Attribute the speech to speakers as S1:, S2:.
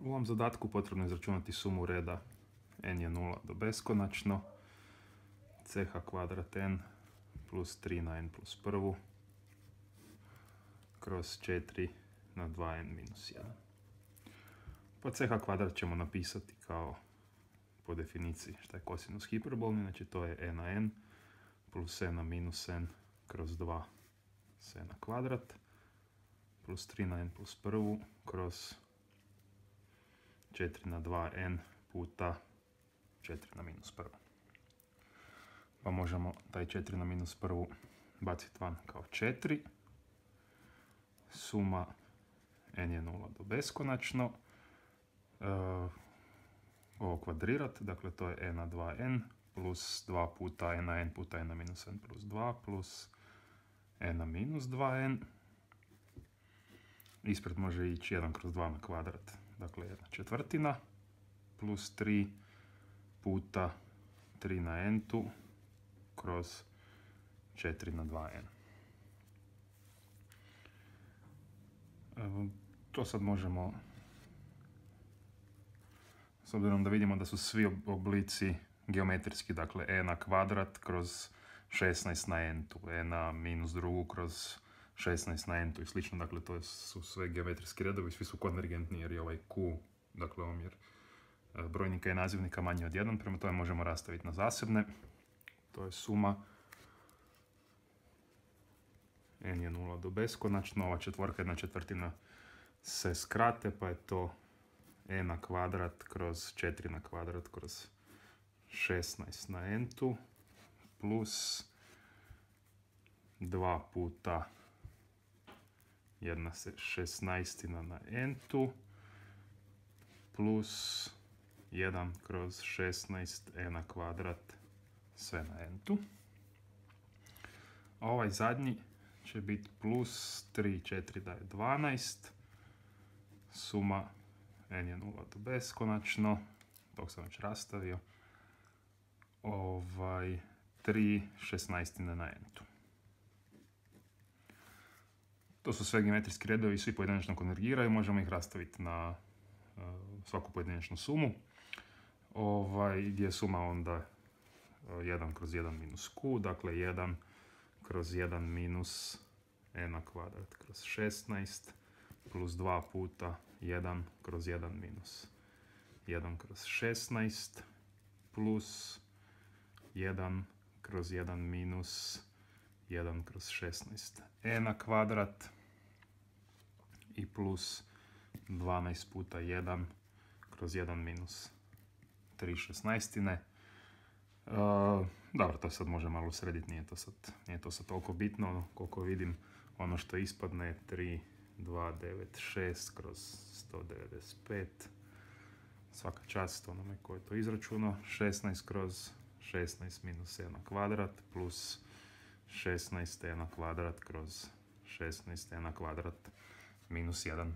S1: U ovom zadatku potrebno je izračunati sumu reda n je 0 do beskonačno, ch kvadrat n plus 3 na n plus prvu kroz 4 na 2n minus 1. Pa ch kvadrat ćemo napisati kao po definiciji šta je kosinus hiperbolni, znači to je e na n plus e na minus n kroz 2 s na kvadrat plus 3 na n plus prvu kroz 4 na 2n puta 4 na minus prvu. Pa možemo taj 4 na minus prvu baciti van kao 4. Suma n je 0 do beskonačno. Ovo kvadrirat, dakle to je e na 2n plus 2 puta e na n puta e na minus n plus 2 plus e na minus 2n. Ispred može ići 1 kroz 2 na kvadrat, dakle 1/4 plus 3 puta 3 na n-tu kroz 4 na 2n. To sad možemo, s obzirom da vidimo da su svi oblici geometrijski, dakle e na kvadrat kroz 16 na n-tu, e na minus drugu kroz 16 na n-tu i slično, dakle to su sve geometrijski redovi, svi su konvergentni jer je ovaj q, dakle omjer brojnika i nazivnika manji od 1, prema tome možemo rastaviti na zasebne. To je suma n je 0 do beskonačno, ova četvorka 1/4 se skrate, pa je to e na kvadrat kroz 4 na kvadrat kroz 16 na n-tu plus 2 puta 1/16 na n-tu plus 1 kroz 16 e na kvadrat sve na n-tu. A ovaj zadnji će biti plus 3, 4 da je 12. Suma n je 0 do beskonačno, tog sam već rastavio, 3/16 na n-tu. To su sve geometrijski redovi, svi pojedinačno konvergiraju, možemo ih rastaviti na svaku pojedinačnu sumu. Gdje je suma onda 1 kroz 1 minus q, dakle 1 kroz 1 minus e na kvadrat kroz 16 plus 2 puta 1 kroz 1 minus 1 kroz 16 plus 1 kroz 1 minus 1 kroz 16 e na kvadrat i plus 12 puta 1 kroz 1 minus 3/16. Dobro, to sad može malo srediti, nije to sad toliko bitno, koliko vidim ono što ispadne je 3296 kroz 195, svaka čast onome ko je to izračunao, 16 kroz 16 minus e na kvadrat plus 16 e na kvadrat kroz 16 e na kvadrat minus 1.